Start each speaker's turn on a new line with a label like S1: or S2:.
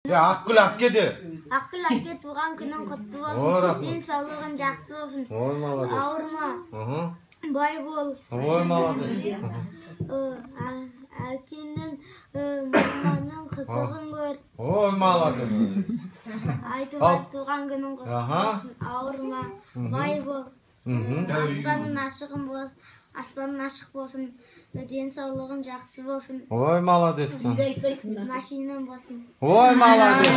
S1: Акгүл апкеди.
S2: Акгүл апке тууган күнүң кутту болсун. Ден соолугуң жакшы болсун.
S1: Ой, молодец.
S2: Ауырма. Бай бол.
S1: Ой, молодец.
S2: Акенин маманын кызыгын көр.
S1: Ой, молодец.
S2: Айтуга тууган күнүң кутту болсун. Ауырма. Бай бол. Аспанын ашык болсун. Ден соолугуң жакшы болсун.
S1: Ой, молодец.
S2: Машинаң болсун.
S1: Ой, молодец.